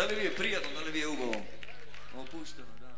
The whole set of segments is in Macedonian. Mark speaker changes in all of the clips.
Speaker 1: Дали ви е пријатно, дали ви е убаво? Опуштено, да.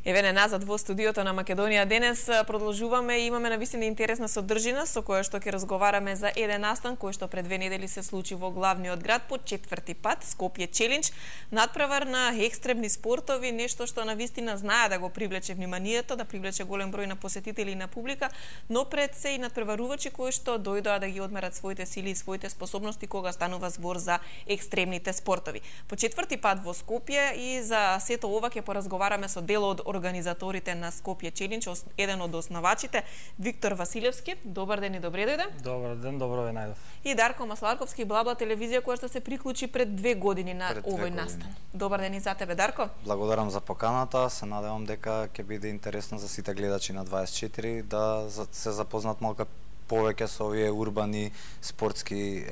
Speaker 2: Еве не назад во студиото на Македонија денес продолжуваме и имаме навистина интересна содржина со која што ќе разговараме за еден настан кој што пред 2 недели се случи во главниот град по 4-ти пат, Скопје Челендж, надпревар на екстремни спортови, нешто што навистина знае да го привлече вниманието, да привлече голем број на посетители и на публика, но пред се и надпреварувачи кои што дојдоа да ги одмерат своите сили и своите способности кога станува збор за екстремните спортови. По 4-ти пат во Скопје и за сето ова ќе поразговараме со дел од организаторите на Скопје Челендж, еден од основачите, Виктор Василевски. Добар ден и добре дојде.
Speaker 3: Добар ден, добро ве најдов.
Speaker 2: И Дарко Масларковски, Блабла телевизија, која што се приклучи пред 2 години на овој настан. Добар ден и за тебе, Дарко.
Speaker 4: Благодарам за поканата, се надевам дека ќе биде интересно за сите гледачи на 24 да се запознат малку повеќе со овие урбани спортски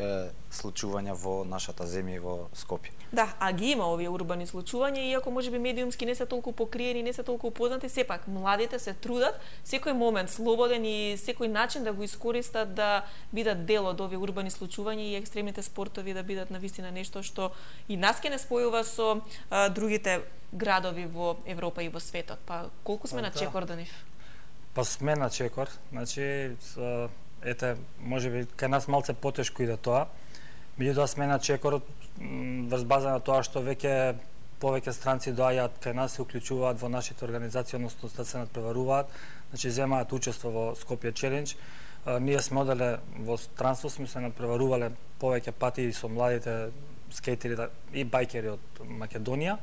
Speaker 4: случувања во нашата земја и во Скопје.
Speaker 2: Да, а ги има овие урбани случувања, иако можеби медиумски не се толку покриени, не се толку упознати, сепак младите се трудат секој момент слободен и секој начин да го искористат да бидат дел од овие урбани случувања и екстремните спортови да бидат навистина нешто што и нас ке не спојува со другите градови во Европа и во светот. Па колку сме на чекор до нив?
Speaker 3: Па сме на чекор, значи ете, можеби кај нас малце потешко иде тоа. Меѓутоа сме на чекор врз база на тоа што веќе повеќе странци доаѓаат кај нас, се уклучуваат во нашите организации, односно да се надпреваруваат, значи земаат учество во Скопје Челендж. Ние сме оделе во странство, сме се надпреварувале повеќе пати и со младите скейтери и бајкери од Македонија.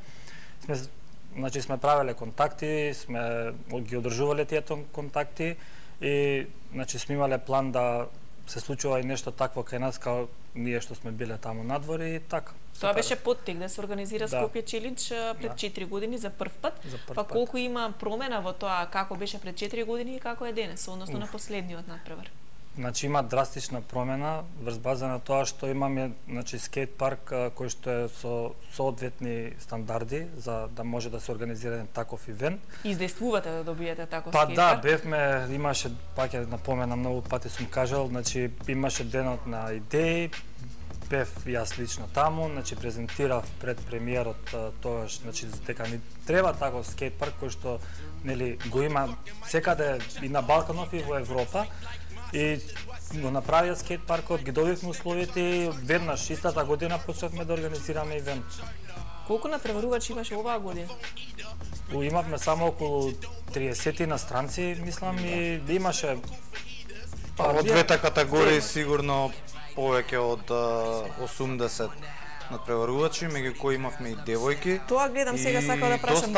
Speaker 3: Значи сме правеле контакти, сме ги одржувале тие контакти и значи сме имале план да се случува и нешто такво кај нас као ние што сме биле таму надвор и така.
Speaker 2: Тоа беше поттик да се организира Скопје Челендж пред 4 години за прв пат. Па колку има промена во тоа како беше пред 4 години и како е денес, односно на последниот надпревар?
Speaker 3: Значи има драстична промена врз база на тоа што имаме значи скейт парк кој што е со соодветни стандарди за да може да се организира таков ивент.
Speaker 2: Издействувате да добиете таков
Speaker 3: скейт
Speaker 2: парк?
Speaker 3: Па да, бевме, имаше, пак ќе напоменам, многу пати сум кажал, значи имаше денот на идеи, бев јас лично таму, значи презентирав пред премиерот тоаш, значи дека ни треба таков скейт парк кој што нели го има секаде и на Балканов и во Европа. И го направија скейт паркот, ги добивме условите и веднаш истата година почнавме да организираме ивент.
Speaker 2: Колку надпреварувачи имаше оваа година?
Speaker 3: Имавме само околу 30 иностранци, мислам, и имаше
Speaker 4: Во двете категории сигурно повеќе од 80 надпреварувачи, меѓу кои имавме и девојки.
Speaker 2: Тоа гледам сега, сакам да прашам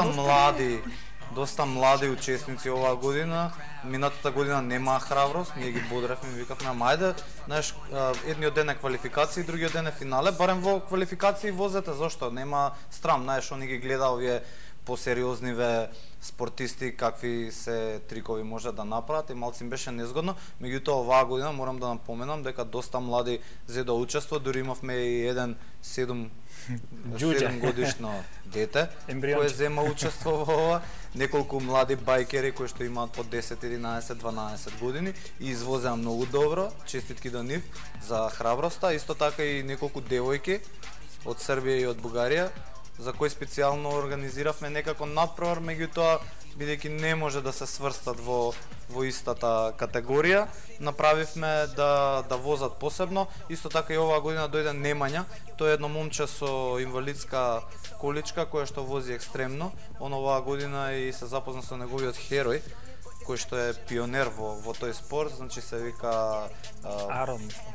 Speaker 4: доста млади учесници оваа година. Минатата година немаа храброст, ние ги бодревме и викавме, ајде, знаеш, едниот ден е квалификации, другиот ден е финале, барем во квалификации возете, зошто? Нема страм, знаеш, они ги гледа овие посериозниве спортисти какви се трикови може да направат и малци им беше незгодно. Меѓутоа оваа година морам да напоменам дека доста млади зедоа учество, дури имавме и еден 7 годишно дете кој зема учество во ова, неколку млади бајкери кои што имаат по 10, 11, 12 години и извозеа многу добро, честитки до нив за храброста, исто така и неколку девојки од Србија и од Бугарија, за кои специјално организиравме некако надпревар, меѓутоа бидејќи не може да се сврстат во истата категорија, направивме да возат посебно. Исто така и оваа година дојде Немања, тоа е едно момче со инвалидска количка која што вози екстремно. Он оваа година и се запозна со неговиот херој, кој што е пионер во тој спорт, значи се вика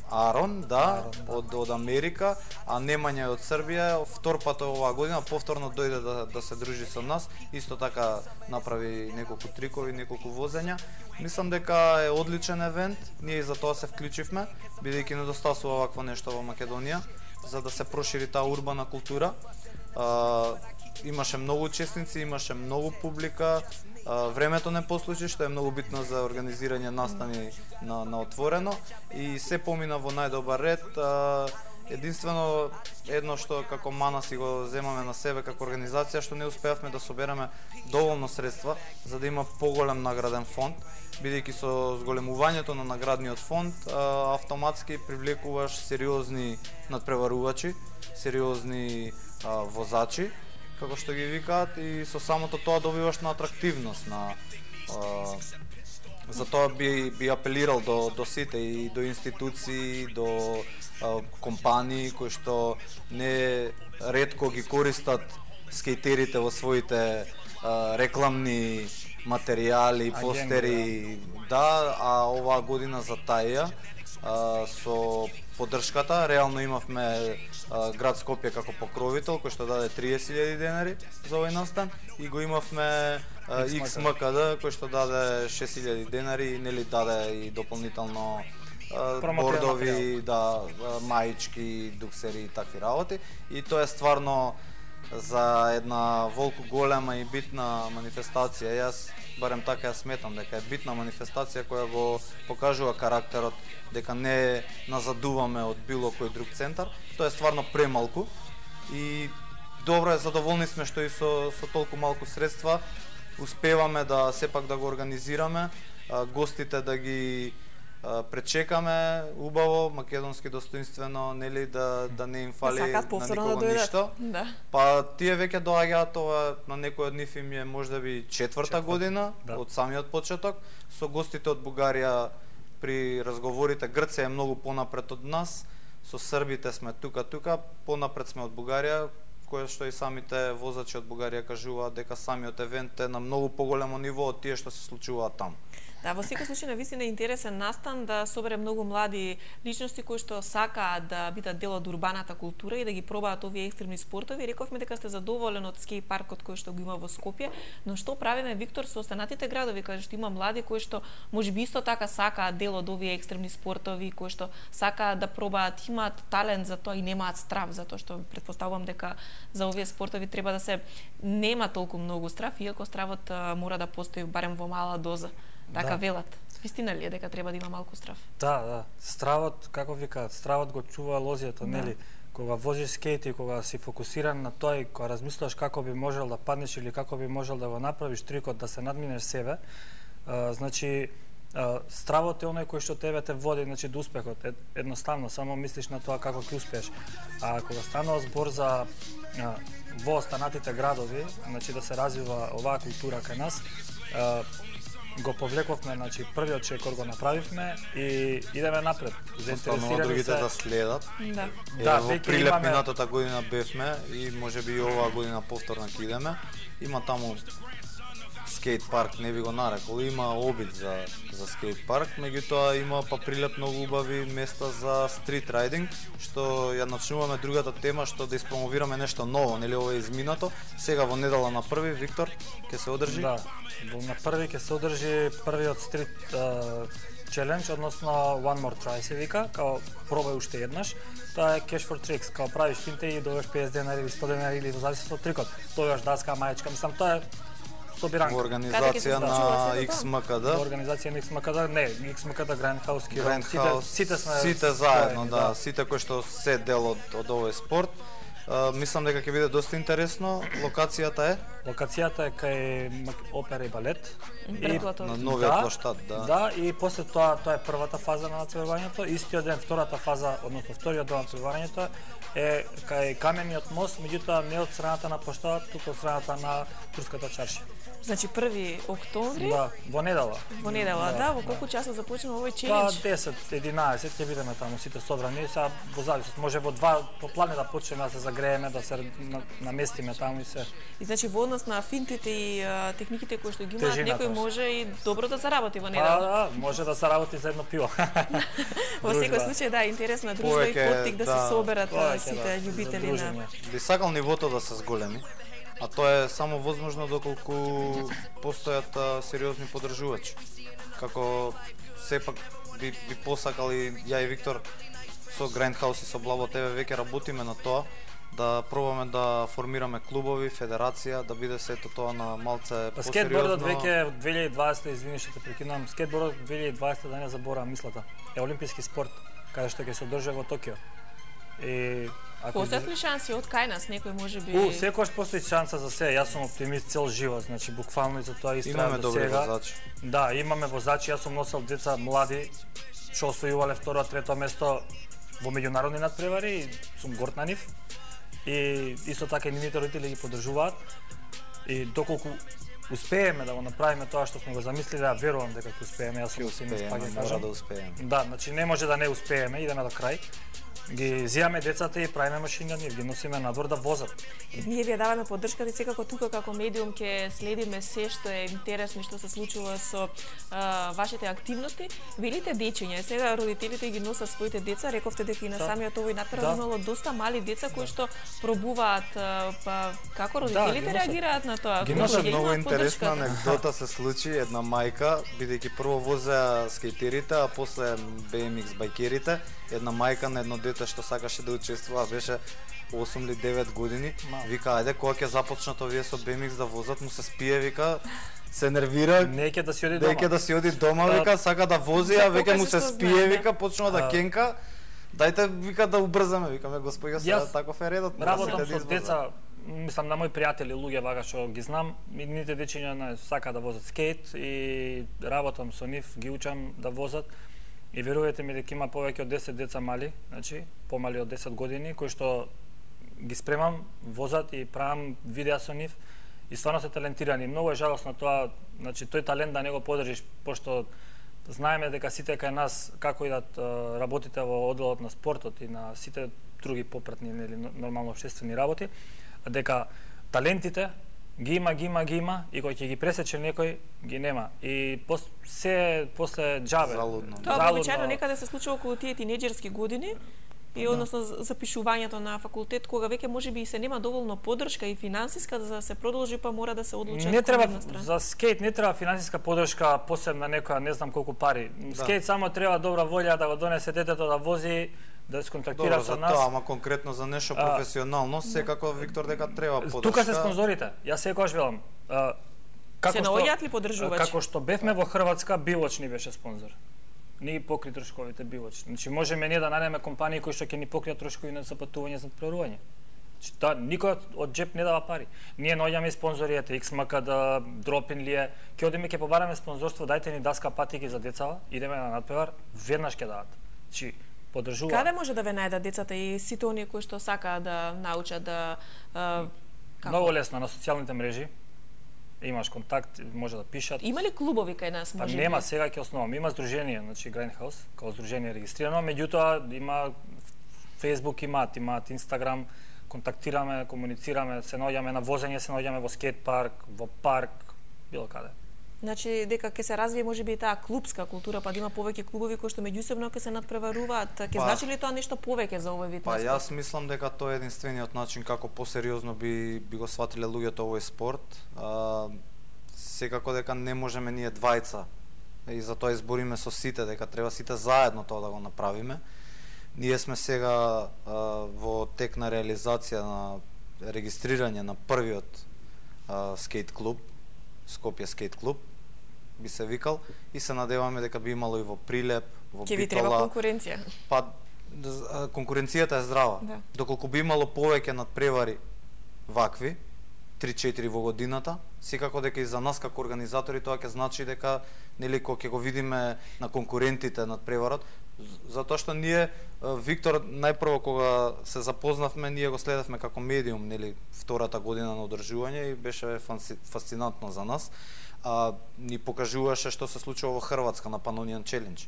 Speaker 4: Арон, да, од Америка, а Немања од Србија, втор пат оваа година, повторно дојде да се дружи со нас, исто така направи неколку трикови, неколку возења. Мислам дека е одличен евент, ние и за тоа се вклучивме, бидејќи недостасува вакво нешто во Македонија, за да се прошири таа урбана култура. Имаше многу учесници, имаше многу публика, времето не послужи, што е многу битно за организирање настани на отворено и се помина во најдобар ред. Единствено едно што како мана си го земаме на себе како организација, што не успеавме да собереме доволно средства за да има поголем награден фонд, бидејќи со зголемувањето на наградниот фонд автоматски привлекуваш сериозни надпреварувачи, сериозни возачи, како што ги викаат, и со самото тоа добиваш на атрактивност, затоа би апелирал до сите, и до институции, до компании кои што не ретко ги користат скејтерите во своите рекламни материјали, постери, да, а оваа година за таја со поддршката реално имавме град Скопје како покровител кој што даде 30.000 денари за овој настан, и го имавме XMKD кој што даде 6.000 денари, нели даде и дополнително бордови, да, маички, дуксери и такви работи, и тоа е стварно за една волку голема и битна манифестација. Јас барем така ја сметам дека е битна манифестација која го покажува карактерот, дека не назадуваме од било кој друг центар. Тоа е стварно премалку и добро е, задоволни сме што и со толку малку средства успеваме да сепак да го организираме, гостите да ги пречекаме убаво, македонски достоинствено, нели, да не им фали на никого ништо.
Speaker 2: Да.
Speaker 4: Па тие веќе доаѓаат, ова на некој од нив им е мождаби четврта година, да, од самиот почеток. Со гостите од Бугарија при разговорите, Грција е многу понапред од нас, со србите сме тука, понапред сме од Бугарија, кое што и самите возачи од Бугарија кажуваат дека самиот евент е на многу поголемо ниво од тие што се случуваат таму.
Speaker 2: Да, во секој случај навистина е интересен настан да собере многу млади личности кои што сакаат да бидат дел од урбаната култура и да ги пробаат овие екстремни спортови. Рековме дека сте задоволен од скејт паркот кој што го има во Скопје, но што правиме, Виктор, со останатите градови каде што има млади кои што можеби исто така сакаат дел од овие екстремни спортови, кои што сакаат да пробаат, имаат талент за тоа и немаат страв, затоа што претпоставувам дека за овие спортови треба да се нема толку многу страв, иако стравот мора да постои барем во мала доза. Така велат. Вистина ли е дека треба да има малку страв?
Speaker 3: Да. Стравот, како викаат, стравот го чува лозијата, нели? Кога возиш скејт и кога си фокусиран на тоа и кога размислуваш како би можел да паднеш или како би можел да го направиш трикот, да се надминеш себе, значи стравот е оној кој што тебе те води, значи, до успехот. Едноставно, само мислиш на тоа како ќе успееш. А кога станува збор за во останатите градови, значи да се развива оваа култура кај нас, го повлековме, значи првиот чекор го направивме и идеме напред.
Speaker 4: Заинтересирани другите да следат.
Speaker 2: Да.
Speaker 4: Во Прилеп минатата година бевме и можеби и оваа година повторно ќе идеме. Има таму скејт парк, не би го нарекол, има обид за скејт парк, меѓутоа има па Прилеп многу убави места за стрит рајдинг, што ја начнуваме другата тема, што да испромовираме нешто ново, нели, ова е изминато. Сега во недела на први, Виктор, ќе се одржи?
Speaker 3: Да, на први ќе се одржи првиот стрит челендж, односно One More Try се вика, као пробај уште еднаш. Тоа е cash for tricks, као правиш финте и добиваш 50 денари или 100 денари или во зависност од трикот. Добиваш даска, маечка, мислам, тоа е собиранка.
Speaker 4: Во организација на XMKD.
Speaker 3: Во организација на XMKD, не, XMKD Grindhouse,
Speaker 4: сите заедно, да, сите кои што се дел од овој спорт. Мислам дека ќе биде доста интересно. Локацијата е?
Speaker 3: Локацијата е кај опера и балет.
Speaker 4: На новиот плоштад, да.
Speaker 3: Да, и после тоа е првата фаза на натпреварењето. Истиот ден, втората фаза, односно вториот дел на натпреварењето е кај камениот мост, меѓутоа не од страната на плоштадот, туку од страната на Турската чаршија.
Speaker 2: Значи 1 октомври?
Speaker 3: Да, во недела.
Speaker 2: Во недела, да. Во колку часа започнува овој челендж?
Speaker 3: 10-11 ќе бидеме таму сите собрани. Сега во зависност, може во 2 поплане да почнеме да се загрееме, да се наместиме таму и се.
Speaker 2: И значи во однос на финтите и техниките кои што ги имаат, некој може и добро да заработи во недела.
Speaker 3: Да, може да заработи за едно пиво.
Speaker 2: Во секој случај, да, интересна дружба и поттик да се соберат сите љубители на.
Speaker 4: Би сакал нивото да се зголеми. А тоа е само возможно доколку постојат сериозни поддржувачи. Како сепак би посакал и ја и Виктор со Grindhouse и со Блабо ТВ веќе работиме на тоа, да пробаме да формираме клубови, федерација, да биде сето тоа на малце посериозно.
Speaker 3: Скейтбордот веќе 2020, извини што те прекинувам, скейтбордот 2020, да не заборавам мислата, е олимписки спорт, каде што ќе се одржи во Токио. И
Speaker 2: постојат ли шанси од кај нас некој можеби?
Speaker 3: Секогаш постои шанса за се. Јас сум оптимист цел живот, значи буквално и за тоа истрајам до сега.
Speaker 4: Имаме добри возачи.
Speaker 3: Да, имаме возачи, јас сум носел деца млади што освојувале второ, трето место во меѓународни натпревари и сум горд на нив. и исто така и нивните родители ги поддржуваат. И доколку успееме да го направиме тоа што сме го замислиле, ја верувам дека ќе успееме, јас сум оптимист, пак ќе кажам.
Speaker 4: Да успееме.
Speaker 3: Да, значи не може да не успееме, идеме до крај. Ги зијаме децата и правиме машина, ги носиме надвор да возат.
Speaker 2: Ние ви ја даваме поддршката и секако тука како медиум ќе следиме се што е интересно што се случува со вашите активности. Велите дечиња, сега родителите ги носат своите деца, рековте дека и на самиот овој натпревар имало доста мали деца кои што пробуваат, како родителите реагираат на тоа?
Speaker 4: Ги носат. Многу интересна анекдота се случи, една мајка, бидејќи прво возеа скейтерите, а после BMX байкерите, една мајка на едно дете што сакаше да учествува, беше 8 или 9 години, вика, ајде, кога ќе започнат овие со BMX да возат, му се спие, вика, се нервира,
Speaker 3: Неќе да си оди дома.
Speaker 4: Неќе да си оди дома, вика, сака да вози, а веќе му се спие, вика, почнува да кенка. Дајте, вика, да убрзаме, викаме, господја, сега таков е редот.
Speaker 3: Работам со деца, мислам на мои пријатели, луѓе вака што ги знам, нивните дечиња сака да возат скейт и работам со нив, ги учам да возат. И верувате ми дека има повеќе од 10 деца мали, значи помали од 10 години, кои што ги спремам, возат и правам видеа со нив и стварно се талентирани. Многу е жалосно тоа, значи тој талент да не го поддржиш, пошто знаеме дека сите кај нас како идат работите во одделот на спортот и на сите други попратни или нормално општествени работи, дека талентите ги има и кој ќе ги пресече некој ги нема. И се после џабе.
Speaker 4: Залудно.
Speaker 2: Тоа обичајно некаде се случува околу тие тинеџерски години и односно запишувањето на факултет, кога веќе можеби и се нема доволно поддршка и финансиска за да се продолжи, па мора да се одлучат.
Speaker 3: Не треба за скейт не треба финансиска поддршка посебна некоја, не знам колку пари. Скейт само треба добра волја да го донесе детето да вози, да се контактира со нас.
Speaker 4: Тоа, ама конкретно за нешто професионално, секако Виктор дека треба поддршка.
Speaker 3: Тука се спонзорите. Јас секогаш велам,
Speaker 2: се наоѓаат ли поддржувачи?
Speaker 3: Како што бевме во Хрватска, Билоч ни беше спонзор. Ни ги покри трошковите Билоч. Значи можеме ние да најдеме компании кои што ќе ни покријат трошкови на запатување за надпреварување. Значи тоа никој од џеп не дава пари. Ние наоѓаме спонзори, ете XMKD, Дропин ли е, ќе одиме ќе побараме спонзорство, дајте ни даска патики за децава, идеме на надпревар, веднаш ќе дадат. Значи поддржува.
Speaker 2: Каде може да ве најдат децата и сите оние кои што сакаат да научат да
Speaker 3: Многу лесно на социјалните мрежи. Имаш контакт, може да пишат.
Speaker 2: Има ли клубови кај нас, може?
Speaker 3: Нема, сега ќе основам. Има здружение, значи Grindhouse, као здружение регистрирано, меѓутоа има Facebook имаат Instagram, контактираме, комуницираме, се наоѓаме на возење, се наоѓаме во скейт парк, во парк, било каде.
Speaker 2: Значи дека ќе се развие можеби и таа клубска култура, па да има повеќе клубови кои што меѓусебно ќе се надпреваруваат. Ќе значи ли тоа нешто повеќе за овој вид на спорт?
Speaker 4: Па јас мислам дека тоа е единствениот начин како посериозно би го сватиле луѓето овој спорт. Секако дека не можеме ние двајца и за тоа избориме со сите дека треба сите заедно тоа да го направиме. Ние сме сега во тек на реализација на регистрирање на првиот скейт клуб, Скопје скейт клуб би се викал, и се надеваме дека би имало и во Прилеп, во Битола.
Speaker 2: Ќе ви треба конкуренција.
Speaker 4: Па конкуренцијата е здрава.
Speaker 2: Да.
Speaker 4: Доколку би имало повеќе надпревари вакви, 3-4 во годината, секако дека и за нас како организатори тоа ќе значи дека нели кога ќе го видиме на конкурентите надпреварот, затоа што ние Виктор најпрво кога се запознавме, ние го следевме како медиум, нели втората година на одржување и беше фасцинантно за нас. Ни покажуваше што се случува во Хрватска на Pannonian Challenge.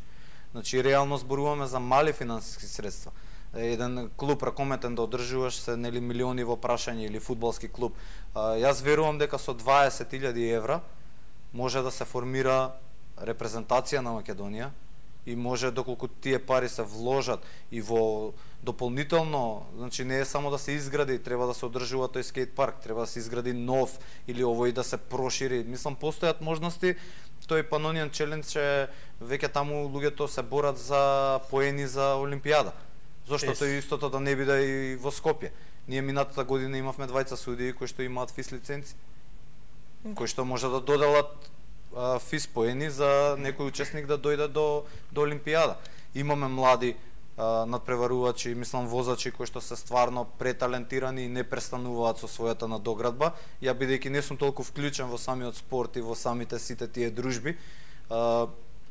Speaker 4: Значи реално зборуваме за мали финансиски средства. Еден клуб ракометен да одржуваш се нели милиони во прашање или фудбалски клуб. Јас верувам дека со 20.000 евра може да се формира репрезентација на Македонија и може доколку тие пари се вложат и во дополнително, значи не е само да се изгради, треба да се одржува тој скейт парк, треба да се изгради нов или овој да се прошири. Мислам постојат можности. Тој Pannonian Challenge веќе таму луѓето се борат за поени за Олимпијада. Зошто тој истото да не биде и во Скопје. Ние минатата година имавме двајца судии кои што имаат ФИС лиценци, кои што може да доделат ФИС поени за некој учесник да дојде до Олимпијада. Имаме млади надпреварувачи, мислам возачи кои што се стварно преталентирани и не престануваат со својата надоградба. Ја бидејќи не сум толку вклучен во самиот спорт и во самите сите тие дружби,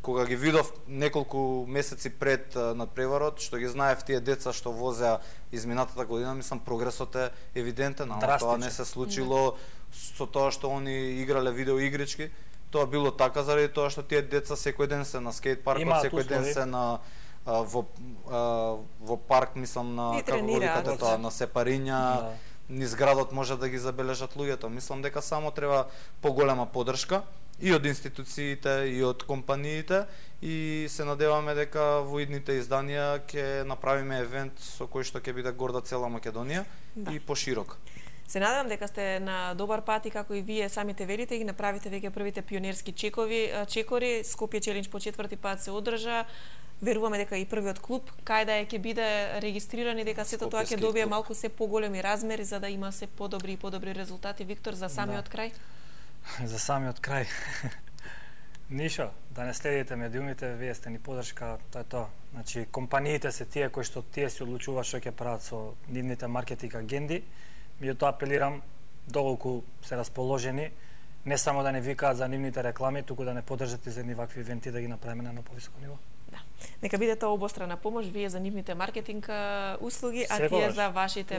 Speaker 4: кога ги видов неколку месеци пред надпреварот, што ги знаев тие деца што возеа изминатата година, мислам прогресот е евидентен, ама тоа не се случило со тоа што они играле видео игрички. Тоа било така заради тоа што тие деца секој ден се на скејт паркот, секој ден се на во парк, мислам на како го викате тоа, на Сепариња, низ градот може да ги забележат луѓето. Мислам дека само треба поголема поддршка и од институциите, и од компаниите, и се надеваме дека во идните изданија ќе направиме евент со кој што ќе биде горда цела Македонија и поширок.
Speaker 2: Се надевам дека сте на добар пат и како и вие самите велите, ги направите веќе првите пионерски чекори. Скопје Челендж по 4-ти пат се одржа. Веруваме дека и првиот клуб кај да ќе биде регистриран и дека сето тоа ќе добие малку се поголеми размери за да има се подобри и подобри резултати. Виктор, за самиот крај?
Speaker 3: За самиот крај. Нишо, да не следите медиумите, вие сте ни поддршка, тоа е тоа. Значи, компаниите се тие кои што тие се одлучуваат што ќе прават со нивните маркетинг агенди. Меѓутоа апелирам, доколку се расположени, не само да не викаат за нивните реклами, туку да не поддржат и за едни вакви ивенти да ги направиме на повисоко ниво.
Speaker 2: Да. Нека биде тоа обострана помош, вие за нивните маркетинг услуги, а тие за вашите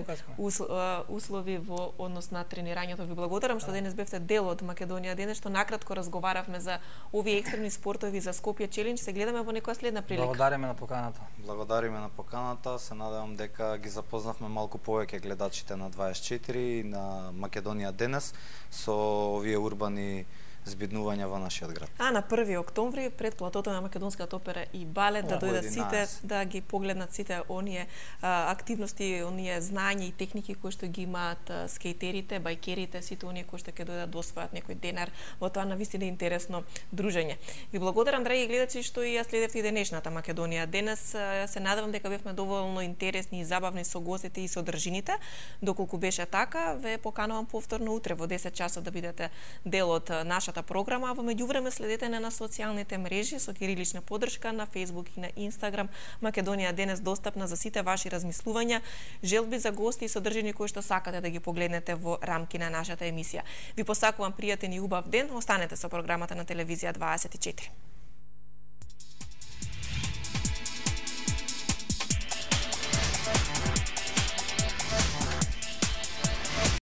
Speaker 2: услови во однос на тренирањето. Ви благодарам што денес бевте дел од Македонија денес, што накратко разговаравме за овие екстремни спортови за Скопје Челендж. Се гледаме во некоја следна прилика.
Speaker 3: Благодариме на поканата.
Speaker 4: Благодариме на поканата. Се надевам дека ги запознавме малку повеќе гледачите на 24 и на Македонија денес со овие урбани збиднувања во нашиот град.
Speaker 2: А на 1 октомври пред платото на Македонската опера и балет да дојдат сите да ги погледнат сите оние активности, оние знања и техники кои што ги имаат скејтерите, бајкерите, сите оние кои што ќе дојдат да освојат некој денар во тоа навистина интересно дружење. Ви благодарам, драги гледачи, што и ја следевте денешната Македонија денес. Се надевам дека бевме доволно интересни и забавни со гостите и содржините. Доколку беше така, ве поканувам повторно утре во 10 часот да бидете дел од нашата програма, а во меѓувреме следете на социјалните мрежи со кирилична поддршка на Facebook и на Instagram. Македонија денес достапна за сите ваши размислувања, желби за гости и содржини кои што сакате да ги погледнете во рамки на нашата емисија. Ви посакувам пријатен и убав ден, останете со програмата на телевизија 24.